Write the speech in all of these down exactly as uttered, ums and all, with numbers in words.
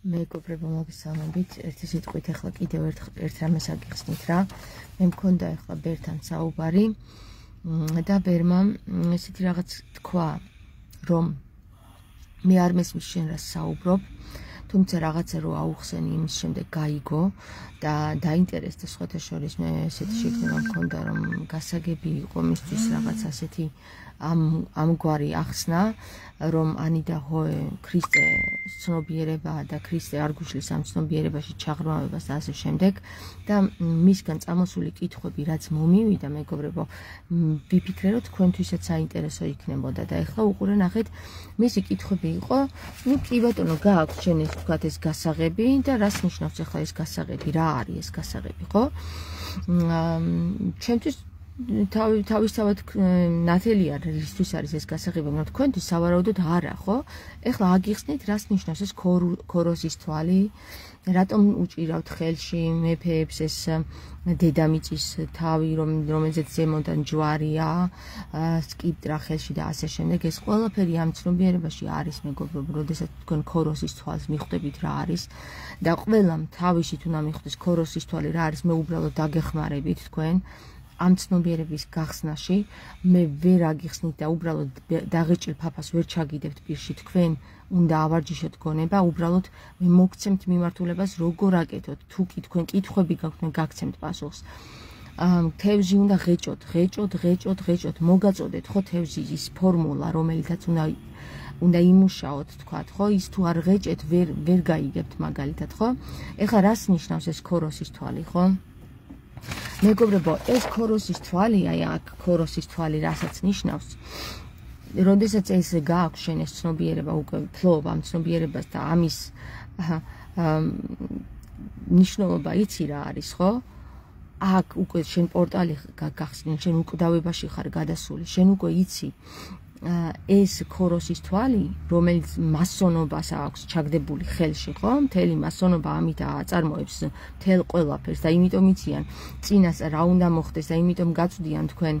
მეგობრებო, მოგესალმებით. ერთი სიტყვით ახლა კიდევ ერთ ერთ რამეს აგიხსნით რა. მე მქონდა ახლა ბერთან საუბარი და ბერმა ესეთი რაღაც თქვა, რომ მე არ მესმის შენ რას საუბრობ, თუმცა რაღაცა რო აუხსენი იმის შემდეგ გაიგო და დაინტერესდა სხვათა შორის მე ესეთი შეგრძნება მქონდა, რომ გასაგები იყო მისთვის რაღაც ასეთი ამ ამგვარი ახსნა, რომ ანი და ჰოე ქრისტე ცნობიერება და ქრისტე არ გუშლის ამ ცნობიერებაში ჩაღრმავებას და ასე შემდეგ და მისგან წამოსული კითხვები რაც მომივიდა, მეგობრებო, ვიფიქრე რომ თქვენთვისაც საინტერესო იქნებოდა და ეხლა უყურე ნახეთ, მისი კითხვები იყო, ნუ კი ბატონო, გააქვს შენ ეს თქვათ ეს გასაღები და რას ნიშნავს ახლა ეს გასაღები, რა არის ეს გასაღები, ხო? ჩემთვის თავი თავისთავად ნათელი არ რისთვის არის ეს გასაღები, მაგრამ თქვენთვის სავარაუდოდ არა, ხო? ეხლა აგიხსნით, რას ნიშნავს ეს ქოროსის თვალი, რატომ უჭირავთ ხელში მეფეებს ეს დედამიწის თავი, რომელზეც ზემოდან ჯვარია, სკიპტრა ხელში და ასე შემდეგ. ეს ყველაფერი ამ ცნობიერებაში არის, მეგობრებო, როდესაც თქვენ ქოროსის თვალს მიხვდებით რა არის და ყველამ თავისით უნდა მიხვდეს ქოროსის თვალი რა არის, მე უბრალოდ დაგეხმარებით თქვენ ამ ცნობიერების გახსნაში, მე ვერ აგიხსნით და უბრალოდ დაღეჭილ ფაფას ვერ ჩაგიდებთ პირში, თქვენ უნდა ავარჯიშოთ გონება, უბრალოდ მე მოგცემთ მიმართულებას როგორ აკეთოთ, თუ კი თქვენ კითხვები გაქვთ, მე გაგცემთ პასუხს. თევზი უნდა ღეჭოთ, ღეჭოთ, ღეჭოთ, ღეჭოთ, მოგაწოდეთ ხო თევზის ის ფორმულა, რომელიცაც უნდა უნდა იმუშაოთ, თქვათ, ხო, ის თუ არ ღეჭეთ, ვერ ვერ გაიგებთ მაგალითად, ხო? ეხლა რას ნიშნავს ეს ქოროსის თვალი, ხო? მეგობრებო, ეს ქოროსის თვალი, აი აქ ქოროსის თვალი რასაც ნიშნავს, როდესაც ეს გააქვს შენ ეს ცნობიერება, უკვე ფლობ ამ ცნობიერებას და ამის ნიშნულობა იცი რა არის, ხო? აქ უკვე შენ პორტალი გახსნილ, შენ უკვდავებაში ხარ გადასული, შენ უკვე იცი ეს ქოროსის თვალი, რომელიც მასონობას აქვს ჩაგდებული ხელში, ხო? მთელი მასონობა ამით აწარმოებს მთელ ყველაფერს და იმიტომ იციან წინას რა უნდა მოხდეს და იმიტომ გაწვდიან თქვენ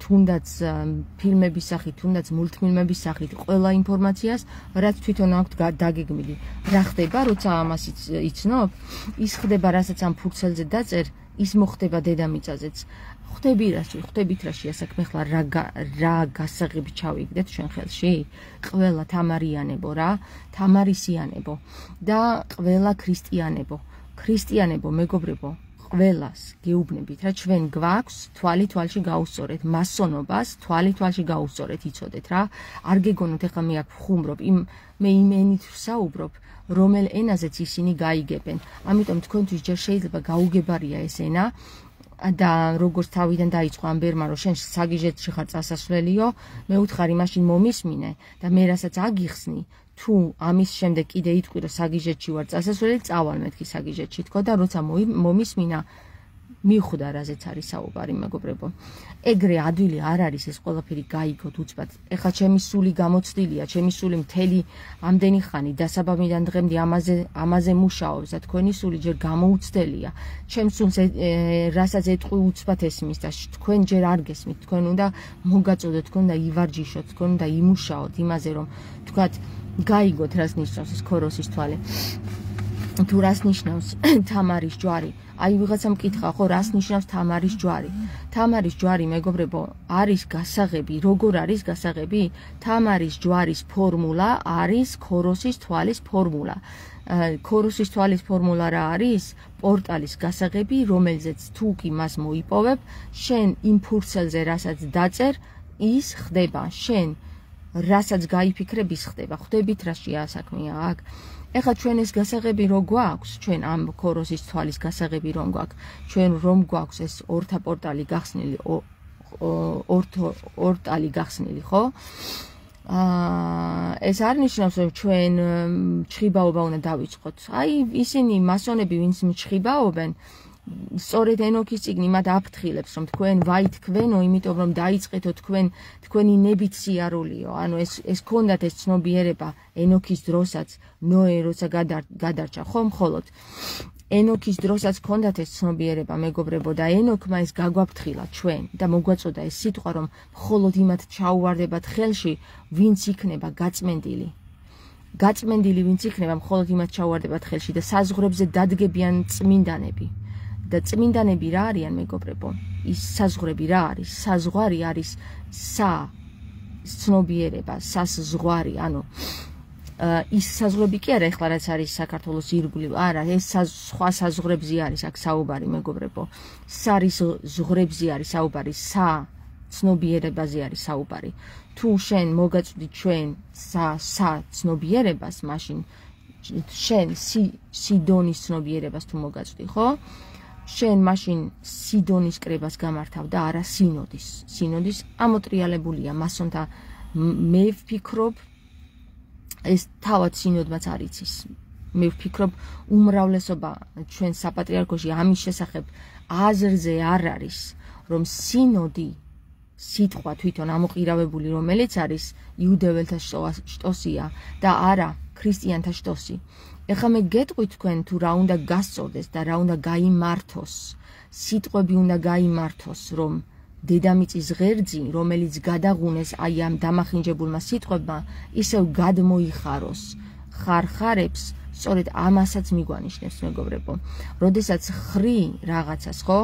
თუნდაც ფილმების სახით, თუნდაც მულტფილმების სახით ყველა ინფორმაციას, რაც თვითონ აქვთ დაგეგმილი. რა ხდება, როცა ამას იცნობ? ის ხდება, რასაც ამ ფურცელზე დაწერ, ის მოხდება დედამიწაზეც. ხვდები რაში, ხვდებით რაში ასაქმე ხლა რა რა გასაღები ჩავიგდეთ ჩვენ ხელში? ყველა თამარიანებო რა, თამარისიანებო და ყველა ქრისტიანებო. ქრისტიანებო, მეგობრებო, ყველას გეუბნებით რა, ჩვენ გვაქვს თვალი თვალში გაუსწორეთ, მასონობას თვალი თვალში გაუსწორეთ, იცოდეთ რა. არ გეგონოთ ეხლა მე აქ ვხუმრობ, იმ მე იმ ენით ვსაუბრობ, რომელ ენაზეც ისინი გაიგებენ. ამიტომ თქვენთვის ჯერ შეიძლება გაუგებარია ეს ენა და როგორც თავიდან დაიწყო ამ ბერმა, რომ შენ საგიჟეთში ხარ წასასვლელიო, მე უთხარი მაშინ მომისმინე და მე რასაც აგიხსნი, თუ ამის შემდეგ კიდე იტყვი, რომ საგიჟეთში ვარ წასასვლელი, წავალ მეთქი საგიჟეთში თქო და როცა მომისმინა, მიხვდა რაზეც არის საუბარი, მეგობრებო. ეგრე ადვილი არ არის ეს ყველაფერი გაიგოთ უცბად. ეხლა ჩემი სული გამოცდილია, ჩემი სული მთელი ამდენი ხანი დასაბამიდან დღემდე ამაზე ამაზე მუშაობს და თქვენი სული ჯერ გამოუცდელია. ჩემს სულს რასაც ეტყვი უცბად ესმის და თქვენ ჯერ არ გესმით, თქვენ უნდა მოგაწოდოთ, თქვენ უნდა ივარჯიშოთ, თქვენ უნდა იმუშაოთ იმაზე, რომ თქვათ გაიგოთ რას ნიშნავს ეს ქოროსის თვალი. თუ რას ნიშნავს თამარის ჯვარი? აი ვიღაცა მკითხა, ხო, რას ნიშნავს თამარის ჯვარი? თამარის ჯვარი, მეგობრებო, არის გასაღები. როგორ არის გასაღები? თამარის ჯვარის ფორმულა არის ქოროსის თვალის ფორმულა. ქოროსის თვალის ფორმულა რა არის? პორტალის გასაღები, რომელზეც თუ კი მას მოიპოვებ, შენ იმ ფურცელზე რასაც დაწერ, ის ხდება. შენ რასაც გაიფიქრებ, ის ხდება. ხვდებით რაშია საქმეა აქ? ეხლა ჩვენ ეს გასაღები რო გვაქვს, ჩვენ ამ ქოროსის თვალის გასაღები რომ გვაქვს, ჩვენ რომ გვაქვს ეს ორთა პორტალი გახსნილი, ორთო ორტალი გახსნილი, ხო? აა ეს არ ნიშნავს, რომ ჩვენ ჩხიბაობა უნდა დავიწყოთ. აი ისინი მასონები, ვინც ჩხიბაობენ, სწორედ ენოქის წიგნი მათ აფრთხილებს, რომ თქვენ ვაითქვენო, იმიტომ რომ დაიწყეთო თქვენ თქვენი ნებით სიარულიო. ანუ ეს ეს ქონდათ ეს ცნობიერება ენოქის დროსაც, ნოე როცა გადარჩა, ხო, მხოლოდ ენოქის დროსაც ქონდათ ეს ცნობიერება, მეგობრებო, და ენოქმა ეს გაგვაფრთხილა ჩვენ და მოგვაწოდა ეს სიტყვა, რომ მხოლოდ იმათ ჩაუვარდებათ ხელში, ვინც იქნება გაწმენდილი. გაწმენდილი ვინც იქნება მხოლოდ იმას ჩაუვარდებათ ხელში და საზღვრებზე დადგებიან წმინდანები და წმინდანები რა არიან მეგობრებო ის საზღვრები რა არის საზღვარი არის სა ცნობიერება საზღვარი ანუ ის საზღვრები კი არა ეხლა რაც არის საქართველოს ირგვლივ არა ეს სხვა საზღვრებზე არის აქ საუბარი მეგობრებო სარის ზღვრებზე არის საუბარი სა ცნობიერებაზე არის საუბარი თუ შენ მოგაწვდი ჩვენ სა სა ცნობიერებას მაშინ შენ სიდონის ცნობიერებას თუ მოგაწვდი ხო შენ მაშინ სიდონის კრებას გამართავ და არა სინოდის სინოდის ამოტრიალებულია მასონთა მე ვფიქრობ ეს თავად სინოდმაც არ იცის მე ვფიქრობ უმრავლესობა ჩვენ საპატრიარქოში ამის შესახებ აზრზე არ არის რომ სინოდი სიტყვა თვითონ ამოყირავებული რომელიც არის იუდეველთა შტოსია და არა ქრისტიანთა შტოსი ეხლა მე გეტყვით თქვენ თუ რა უნდა გასწორდეს და რა უნდა გაიმართოს სიტყვები უნდა გაიმართოს რომ დედამიწის ღერძი რომელიც გადაღუნეს აი ამ დამახინჯებულმა სიტყვებმა ისევ გადმოიხაროს ხარხარებს სწორედ ამასაც მიგვანიშნებს მეგობრებო როდესაც ხრი რაღაცას ხო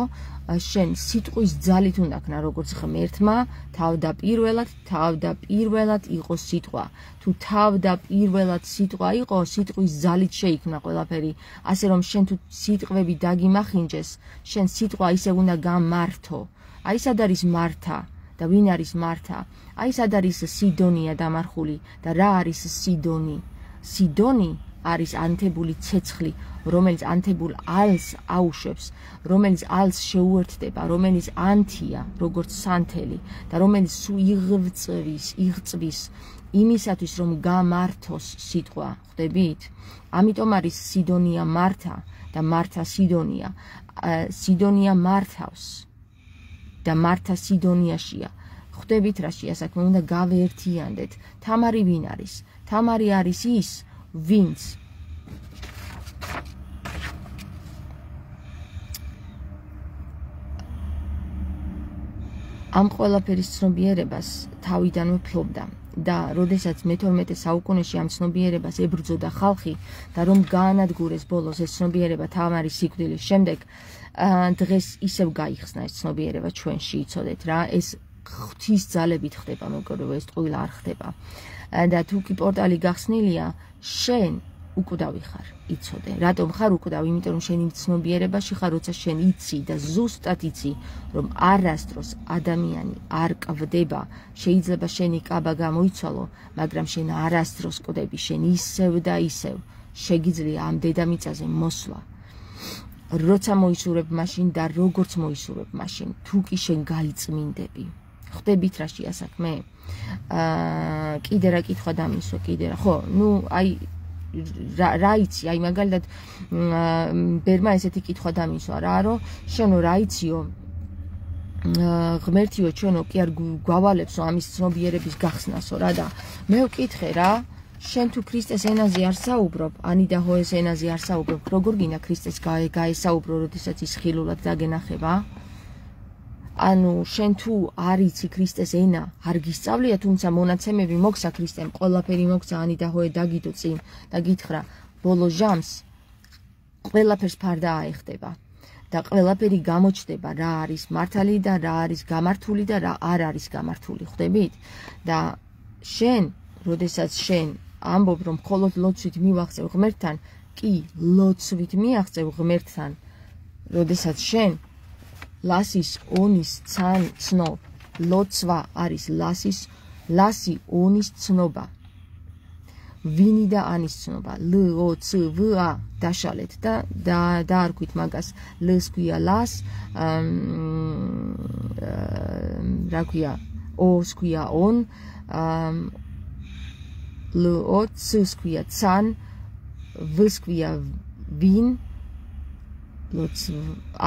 შენ სიტყვის ძალით უნდა ქნა როგორც ღმერთმა თავდაპირველად თავდაპირველად იყო სიტყვა თუ თავდაპირველად სიტყვა იყო სიტყვის ძალით შეიქმნა ყველაფერი ასე რომ შენ თუ სიტყვები დაგიმახინჯეს შენ სიტყვა ისე უნდა გამართო აი სად არის მართა და ვინ არის მართა აი სად არის სიდონია დამარხული და რა არის სიდონი სიდონი არის ანთებული ცეცხლი რომელიც ანთებულ ალს აუშვებს რომელიც ალს შეუერთდება რომელიც ანთია როგორც სანთელი და რომელიც იღწვის იღწვის იმისათვის რომ გამართოს სიტყვა ხვდებით ამიტომ არის სიდონია მართა და მართა სიდონია სიდონია მართავს და მართა სიდონიაშია ხვდებით რა შეასაქმე უნდა გავეერთიანდეთ თამარი ვინ არის თამარი არის ის ვინც ამ ყველაფერის ცნობიერებას თავიდანვე ფლობდა და როდესაც მეთორმეტე საუკუნეში ამ ცნობიერებას ებრძოდა ხალხი და რომ გაანადგურეს ბოლოს ეს ცნობიერება თამარის სიკვდილის შემდეგ დღეს ისევ გაიხსნა ეს ცნობიერება ჩვენში იცოდეთ რა ეს ღვთის ძალებით ხდება მეგობრებო ეს ტყუილა არ ხდება და თუ კი პორტალი გახსნილია შენ უკვდავი ხარ იცოდე რატომ ხარ უკვდავი იმიტომ რომ შენ იმ ცნობიერებაში ხარ როცა შენ იცი და ზუსტად იცი რომ არასდროს ადამიანი არ კვდება შეიძლება შენი კაბა გამოიცვალო მაგრამ შენ არასდროს კვდები შენ ისევ და ისევ შეგიძლია ამ დედამიწაზე მოსვლა როცა მოისურვებ მაშინ და როგორც მოისურვებ მაშინ თუ კი შენ გაიწმინდები ხვდებით რა შეასაქმე აა კიდე რა კითხვა დამისვა კიდე რა ხო ნუ აი რა იცი აი მაგალითად ბერმა ესეთი კითხვა დამისვა რა რომ შენო რა იციო ღმერთიო ჩვენო კი არ გვავალებსო ამის ცნობიერების გახსნასო რა და მე ვკითხე რა შენ თუ ქრისტეს ენაზე არ საუბრობ ანიდა ჰოეს ენაზე არ საუბრობ როგორ გინდა ქრისტეს გაესაუბრო როდესაც ის ხილულად დაგენახება ანუ შენ თუ არ იცი ქრისტეს ენა არ გისწავლია თუმცა მონაცემები მოგსა ქრისტემ ყველაფერი მოგსა ანიდა ჰოე დაგიდო წინ და გითხრა ბოლო ჟამს ყველაფერს ფარდა აეხდება და ყველაფერი გამოჩნდება რა არის მართალი და რა არის გამართული და რა არ არის გამართული ხვდებით და შენ როდესაც შენ ამბობ რომ მხოლოდ ლოცვით მივახცევ ღმერთთან კი ლოცვით მიაღწევ ღმერთთან როდესაც შენ ლასის ონის ცან ცნობ ლოცვა არის ლასის ლასი ონის ცნობა ვინი და ანის ცნობა ლ ო ც ვ ა დაშალეთ და დაარქვით მაგას ლს ქვია ლას რა ქვია ოს ქვია on ლ ო ც ქვია ცან ვს ქვია ვინ ლოც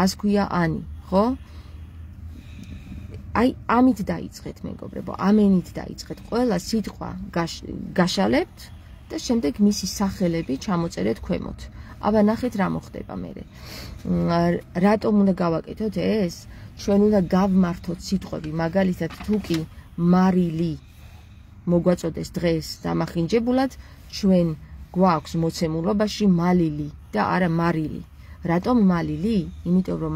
ას ქვია ანი ხო აი ამით დაიწყეთ მეგობრებო ამენით დაიწყეთ ყველა სიტყვა გაშალებთ და შემდეგ მისი სახელები ჩამოწერეთ ქვემოთ აბა ნახეთ რა მოხდება მერე რატომ უნდა გავაკეთოთ ეს ჩვენ უნდა გავმართოთ სიტყვები მაგალითად თუ კი მარილი მოგვაწოდეს დღეს დამახინჯებულად, ჩვენ გვაქვს მოცემულობაში მალილი და არა მარილი. რატომ მალილი? იმიტომ რომ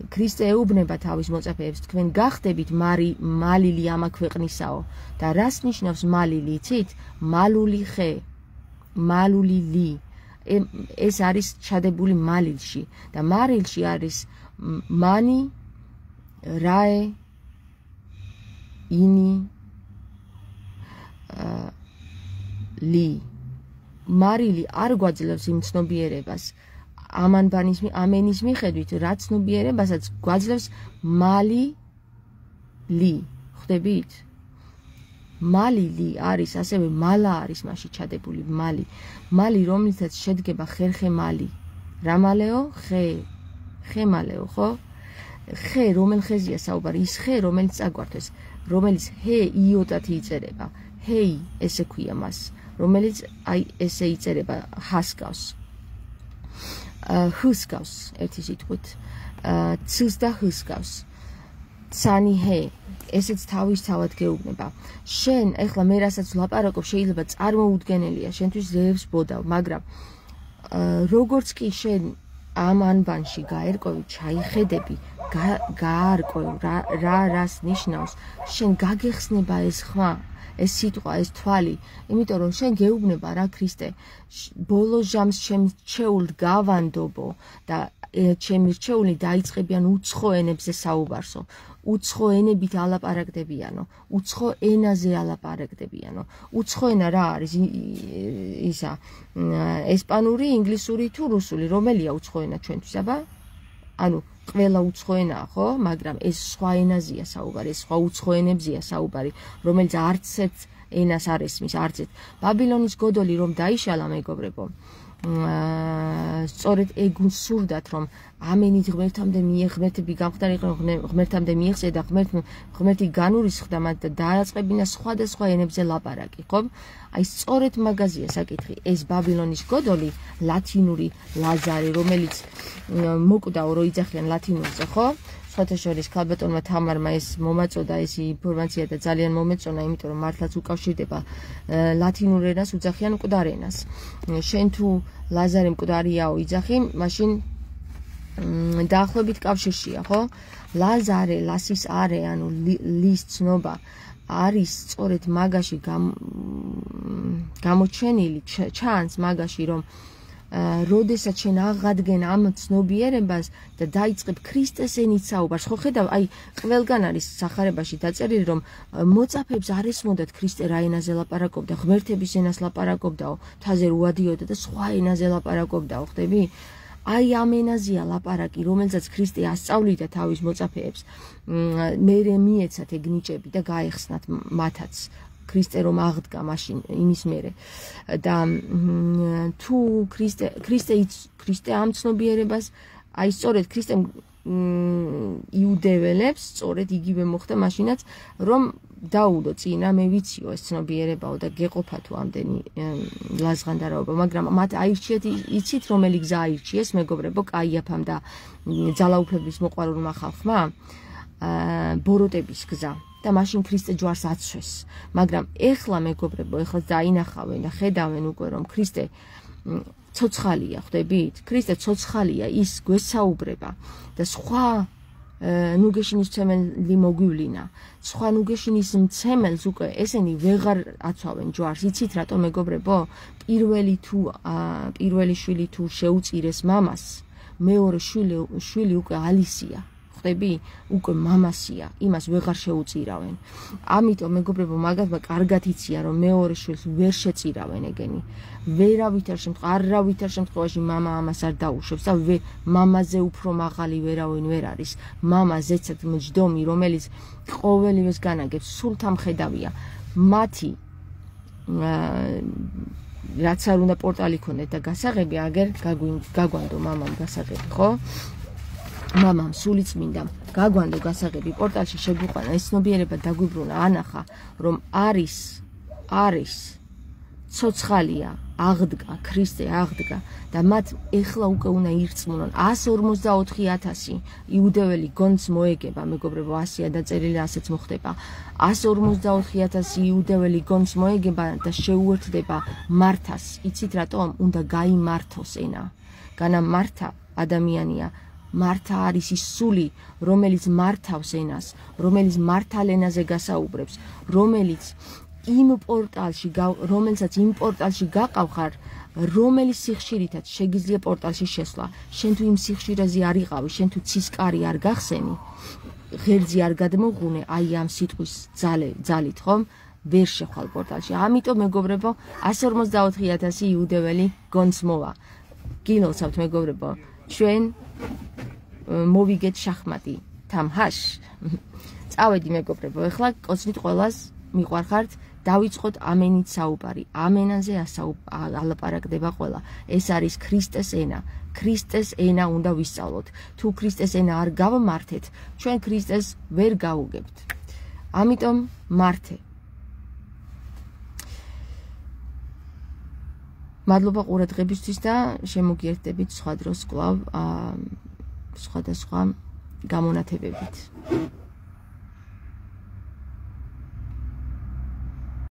ქრისტე ეუბნება თავის მოწაფეებს, თქვენ გახდებით მარი მალილი ამა ქვეყნისაო და რას ნიშნავს მალილი, იცით? მალული ხე, მალული ლი. ეს არის ჩადებული მალილში და მარილში არის მანი, რაე, ინი, ლი. მარილი არ გვაძლევს იმ ცნობიერებას ამანბანის ამენის მიხედვით, რა ცნობიერებასაც გვაძლევს მალი ლი. ხვდებით? მალი ლი არის, ასევე მალა არის მასში ჩადებული მალი. მალი, რომლითაც შედგება ხერხე მალი. რა მალეო? ხე. ხე მალეო, ხო? ხე, რომელ ხეზია საუბარი? ის ხე, რომელიც წაგვართვეს, რომელიც ჰე იოდად იწერება. ჰეი, ესე ქვია მას, რომელიც აი ესე იწერება ჰასკავს. ჰსკავს ერთი სიტყვით. ცს და ჰსკავს. ცანი ჰე, ესეც თავისთავად გეუბნება. შენ, ეხლა მე რასაც ვლაპარაკობ, შეიძლება წარმოუდგენელია, შენთვის ზევს ბოდავ, მაგრამ როგორც კი შენ ამ ანბანში გაერკვევი, ჩაიხედები, გაარკვევ რა რა რას ნიშნავს, შენ გაგეხსნება ეს ხმა, ეს სიტყვა, ეს თვალი, იმიტომ რომ შენ გეუბნება რა ქრისტე, ბოლო ჟამს ჩემ რჩეულს გავანდობო და ჩემი რჩეული დაიწყებიან უცხო ენებზე საუბარსო. უცხო ენებით ალაპარაკდებიანო, უცხო ენაზე ალაპარაკდებიანო. უცხო ენა რა არის? ისა ესპანური, ინგლისური თუ რუსული, რომელია უცხო ენა ჩვენთვის, აბა? ანუ ყველა უცხო ენაა, ხო? მაგრამ ეს სხვა ენაზეა საუბარი, ეს სხვა უცხო ენებზეა საუბარი, რომელიც არც ერთ ენას არ ესმის, არც ერთ. ბაბილონის გოდოლი რომ დაიშალა, მეგობრებო, სწორედ ეგ სურდათ, რომ ამენით ღმერთამდე მიეღმერთები გამხდარიყო, ღმერთამდე მიეღწია და ღმერთი განურისხდა მათ და დააწყებინა სხვადასხვა ენებზე ლაპარაკი, ხო? აი სწორედ მაგაზია საკითხი. ეს ბაბილონის გოდოლი, ლათინური ლაზარე, რომელიც მოკვდაო რო იძახიან ლათინურზე, ხო? სხვათა შორის ქალბატონმა თამარმა ეს მომაწოდა ეს ინფორმაცია და ძალიან მომეწონა, იმიტომ რომ მართლაც უკავშირდება ლათინურ ენას უძახიან მკვდარ ენას. შენ თუ ლაზარე მკვდარიაო იძახი, მაშინ დაახლოებით კავშირშია, ხო? ლაზარე, ლასის არე, ანუ ლის ცნობა არის სწორედ მაგაში გამოჩენილი, ჩანს მაგაში, რომ როდესაც შენ აღადგენ ამ ცნობიერებას და დაიწყებ ქრისტეს ენით საუბარს, ხო ხედავ, აი ყველგან არის სახარებაში დაწერილი, რომ მოწაფეებს არ ესმოდათ ქრისტე რა ენაზე ლაპარაკობდა, ღმერთების ენას ლაპარაკობდაო, თაზე რუადიოდა და სხვა ენაზე ლაპარაკობდაო, ხვდები? აი ამ ენაზეა ლაპარაკი, რომელსაც ქრისტე ასწავლიდა თავის მოწაფეებს, მერე მიეცათ ეგ ნიჭები და გაეხსნათ მათაც. ქრისტე რომ აღდგა მაშინ იმის მერე და თუ ქრისტე ქრისტე ქრისტე ამ ცნობიერებას აი სწორედ ქრისტემ იუდეველებს სწორედ იგივე მოხდა მაშინაც რომ დაუდო წინა მე ვიციო ეს ცნობიერებაო და გეყოფა თუ ამდენი ლაზღანდარაობა, მაგრამ მათ აირჩიეთ, იცით რომელი გზა აირჩიეს, მეგობრებო, კაიაფამ და ძალაუფლების მოყვარულმა ხალხმა? ბოროტების გზა. და მაშინ ქრისტე ჯვარს აცვეს. მაგრამ ეხლა მეგობრებო, ეხლა დაინახავენ და ხედავენ უკვე რომ ქრისტე ცოცხალია, ხვდებით? ქრისტე ცოცხალია, ის გვესაუბრება და სხვა ნუგეშინის მცემელი მოგვივლინა. სხვა ნუგეშინის მცემელს უკვე ესენი ვეღარ აცვავენ ჯვარს. იცით რატომ მეგობრებო? პირველი თუ პირველი შვილი თუ შეუწირეს მამას, მეორე შვილი შვილი უკვე ალისია. ხვდები? უკვე მამასია, იმას ვეღარ შეუწირავენ. ამიტომ მეგობრებო, მაგათმა კარგად იციან, რომ მეორე შვილს ვერ შეწირავენ ეგენი. ვერავითარ შემთხვევაში, არავითარ შემთხვევაში მამა ამას არ დაუშვებს და მამაზე უფრო მაღალი ვერავინ ვერ არის. მამა ზეცად მჯდომი, რომელიც ყოველივეს განაგებს, სულ თამხედავია. მათი რაც არ უნდა პორტალი ქონდეთ და გასაღები, აგერ გაგვანდო მამამ გასაღები, ხო? მამამ სულიწმინდამ გაგვანდო გასაღები პორტალში შეგვიყვანა ეს ცნობიერება დაგვიბრუნა, ანახა რომ არის არის ცოცხალია, აღდგა, ქრისტე აღდგა და მათ ეხლა უკვე უნდა ირწმუნონ ას ორმოცდაოთხი ათასი იუდეველი გონც მოეგება, მეგობრებო, ასია დაწერილი, ასეც მოხდება. ას ორმოცდაოთხი ათასი იუდეველი გონც მოეგება და შეუერთდება მართას. იცით რატომ? უნდა გაიმართოს ენა. განა მართა ადამიანია. მართა არის ის სული, რომელიც მართავს ენას, რომელიც მართალ ენაზე გასაუბრებს, რომელიც იმ პორტალში, რომელსაც იმ პორტალში გაყავხარ, რომელი სიხშირითაც შეგიძლია პორტალში შესვლა. შენ თუ იმ სიხშირეზე არ იყავი, შენ თუ ცისკარი არ გახსენი, ღერძი არ გადმოღუნე, აი ამ სიტყვის ძალით, ხომ? ვერ შეხვალ პორტალში. ამიტომ მეგობრებო, ას ორმოცდაოთხი ათასი იუდეველი გონც მოვა. გილოცავთ მეგობრებო, ჩვენ მოვიგეთ შახმატი თამჰაშ. წავედი მეგობრებო, ეხლა კოცნით ყველას მიყვარხართ, დავიწყოთ ამენით საუბარი. ამენაზე ალაპარაკდება ყველა. ეს არის ქრისტეს ენა. ქრისტეს ენა უნდა ვისწავლოთ. თუ ქრისტეს ენა არ გავმართეთ, ჩვენ ქრისტეს ვერ გავუგებთ. ამიტომ მართე. მადლობა ყურადღებისთვის და შემოგიერთდებით სხვა დროს კვლავ სხვადასხვა გამონათებებით.